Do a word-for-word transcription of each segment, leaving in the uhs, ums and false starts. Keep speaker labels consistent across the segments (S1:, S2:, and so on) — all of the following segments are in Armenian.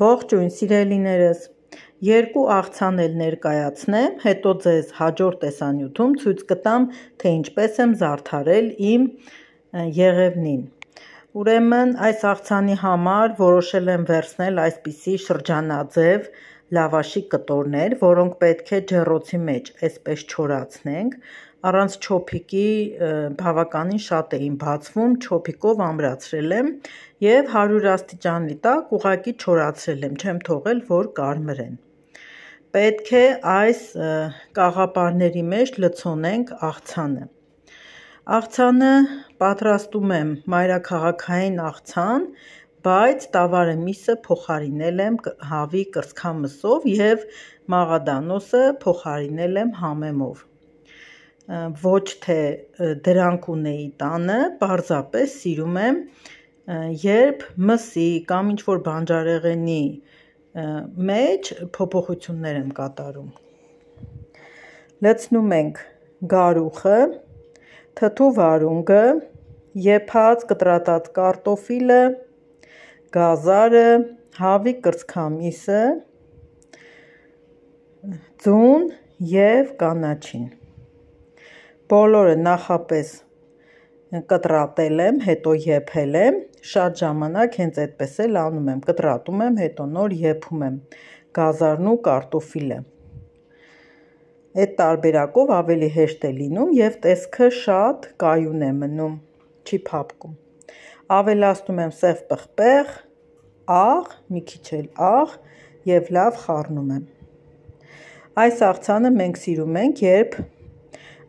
S1: Ողջույն սիրելիներս, երկու աղցան էլ ներկայացնեմ, հետո ձեզ հաջորդ տեսանյութում ցույց կտամ, թե ինչպես եմ զարդարել իմ եղևնին։ Ուրեմն այս աղցանի համար որոշել եմ վերցնել այսպիսի շրջանաձև լավաշի կտորներ, որոնք պետք է ջեռոցի մեջ այսպես չորացնենք, առանց չոփիկի բավականին շատ էին բացվում, չոփիկով ամրացրել եմ և հարյուր աստիճանի տակ ուղղակի չորացրել եմ, չեմ թողել, որ կարմրեն։ Պետք է այս կաղապարների մեջ լցոնենք աղցանը։ Աղցանը պատրաստում եմ մայրաքաղաքային աղցան, բայց տավարը միսը փոխարինել եմ հավի կրծքամսով և մաղադանոսը փոխարինել եմ համեմով։ Ոչ թե դրանք ունեի տանը, պարզապես սիրում եմ, երբ մսի կամ ինչ-որ բանջարեղենի մեջ փոփոխություններ եմ կատարում։ Լցնում ենք գարուխը, թթու վարունգը, եփած կտրատած կարտոֆիլը, գազարը, հավի կրծքամիսը, ձուն և կանաչին։ Բոլորը նախապես կտրատել եմ, հետո եփել եմ, շատ ժամանակ հենց այդպես էլ անում եմ, կտրատում եմ, հետո նոր եփում եմ գազարն ու կարտոֆիլը։ Այդ տարբերակով ավելի հեշտ է լինում և տեսքը շատ կայուն է մնում, չի փափկում։ Ավելացնում եմ սև պղպեղ, աղ, մի քիչ էլ աղ և լավ խառնում եմ։ Այս աղցանը մենք սիրում ենք, երբ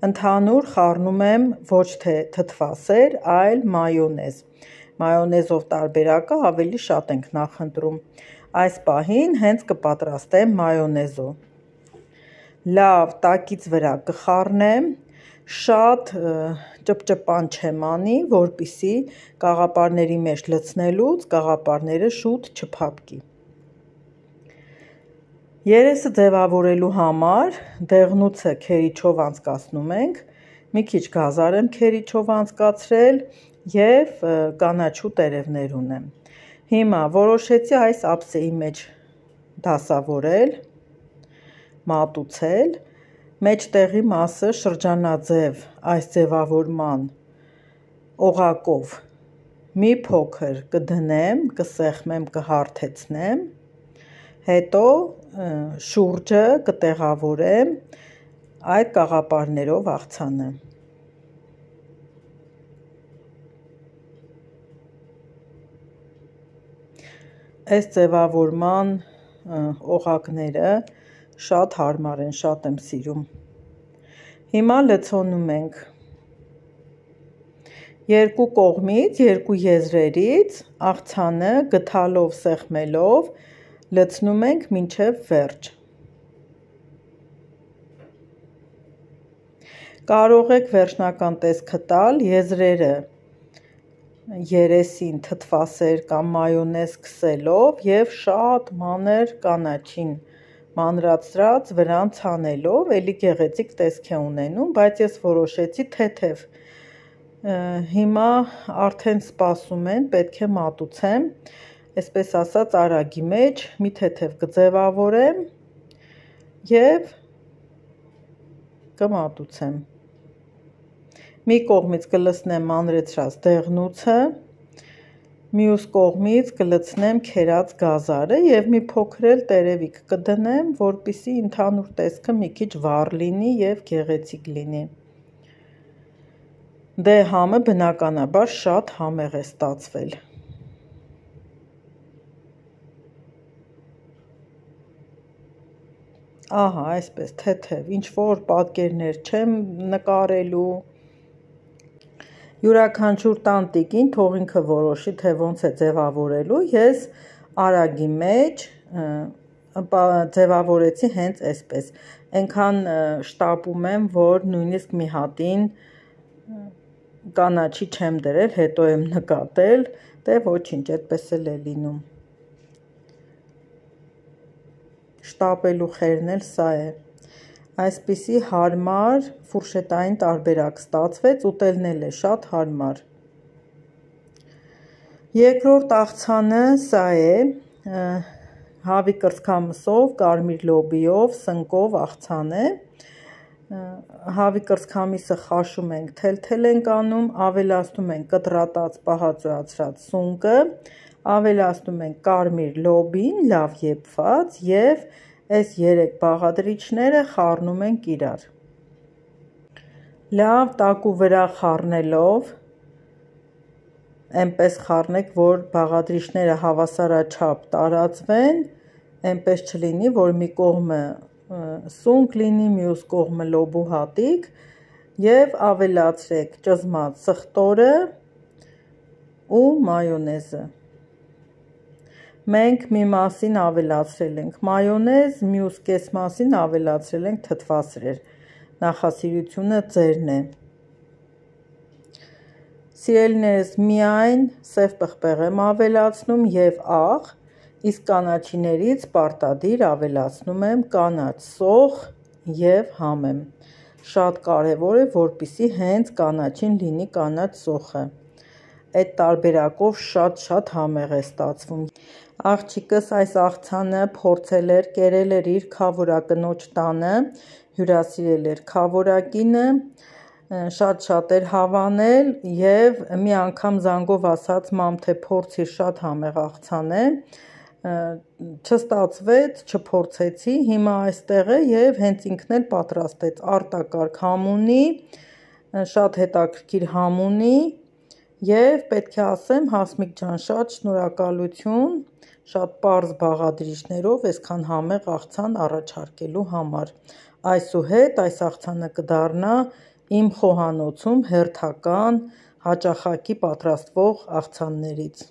S1: ընդհանուր խառնում եմ ոչ թե թթվասեր, այլ մայոնեզ։ Մայոնեզով տարբերակը ավելի շատ ենք նախընտրում։ Այս պահին հենց կպատրաստեմ մայոնեզով։ Լավ տակից վրա կխառնեմ, շատ ճպճպան չեմ անի, որպեսզի կաղապարների մեջ լցնելուց կաղապարները շուտ չփափկի։ Երեսը ձևավորելու համար դեղնուցը քերիչով անցկացնում ենք, մի քիչ գազար եմ քերիչով անցկացրել և կանաչու տերևներ ունեմ։ Հիմա որոշեցի այս ափսեի մեջ դասավորել, մատուցել, մեջտեղի մասը շրջանաձև այս ձևավորման օղակով մի փոքր կդնեմ, կսեղմեմ, կհարթեցնեմ, հետո շուրջը կտեղավորեմ այդ կաղապարներով աղցանը։ Այս ձևավորման օղակները շատ հարմար են, շատ եմ սիրում։ Հիմա լցոնում ենք երկու կողմից, երկու եզրերից աղցանը գդալով, սեղմելով լցնում ենք մինչև վերջ։ Կարող եք վերջնական տեսքը տալ եզրերը երեսին թթվասեր կամ մայոնեզ քսելով և շատ մանր կանաչին մանրացրած վրան ցանելով, էլի գեղեցիկ տեսք է ունենում, բայց ես որոշեցի թեթև։ Հիմա արդեն սպասում են, պետք է մատուցեմ, այսպես ասած արագի մեջ, մի թեթև կձևավորեմ և կմատուցեմ։ Մի կողմից կլցնեմ մանրեցրած դեղնուցը, մյուս կողմից կլցնեմ քերած գազարը և մի փոքր էլ տերևիկ կդնեմ, որպեսզի ընդհանուր տեսքը մի քիչ վառ լինի և գեղեցիկ լինի։ Դե համը բնականաբար շատ համեղ է ստացվել։ Ահա այսպես թեթև, ինչ-որ պատկերներ չեմ նկարելու։ Յուրաքանչյուր տանտիկին թող ինքը որոշի, թե ոնց է ձևավորելու, ես արագի մեջ ձևավորեցի հենց այսպես, այնքան շտապում եմ, որ նույնիսկ մի հատին կանաչի չեմ դրել, հետո եմ նկատել, դե ոչինչ, այդպես էլ է լինում։ Շտապելու խերն էլ սա է։ Այսպիսի հարմար ֆուրշետային տարբերակ ստացվեց, ուտելն էլ է շատ հարմար։ Երկրորդ աղցանը սա է, Հավի կրծքամսով, կարմիր լոբիով, սնկով աղցան է։ Հավի կրծքամիսը խաշում ենք, թելթել ենք անում, ավելացնում ենք կտրատած պահածոյացրած սունկը, ավելացնում ենք կարմիր լոբին, լավ եփված եւ այս երեք բաղադրիչները խառնում ենք իրար։ Լավ տակու վրա խառնելով, այնպես խառնեք, որ բաղադրիչները հավասարաչափ տարածվեն, այնպես չլինի, որ մի կողմը սունկ լինի, մյուս կողմը լոբու հատիկ, եւ ավելացրեք ճզմած սխտորը ու մայոնեզը։ Մենք մի մասին ավելացրել ենք մայոնեզ, մյուս կես մասին ավելացրել ենք թթվասրեր։ Նախասիրությունը ձերն է։ Սիրելիներս, միայն սև պղպեղ եմ ավելացնում եւ աղ, իսկ կանաչիներից պարտադիր ավելացնում եմ կանաչ սոխ եւ համեմ։ Շատ կարեւոր է, որպեսզի հենց կանաչին լինի կանաչ սոխը։ Այդ տարբերակով շատ-շատ համեղ է ստացվում։ Աղջիկս այս աղցանը փորձել էր, կերել էր իր քավորակնոջ տանը, հյուրասիրել էր քավորակինը, շատ-շատ էր հավանել եւ մի անգամ զանգով ասաց՝ մամ, թե փորձիր, շատ համեղ աղցան է, չստացվեց, չփորձեցի, հիմա այստեղ է եւ հենց ինքն էլ պատրաստեց արտակարգ համ ունի, շատ հետաքրքիր համ ունի եւ պետք է ասեմ, Հասմիկ ջան, շատ շնորհակալություն, շատ պարզ բաղադրիչներով այսքան համեղ աղցան առաջարկելու համար։ Այսուհետ այս աղցանը կդառնա իմ խոհանոցում հերթական հաճախակի պատրաստվող աղցաններից։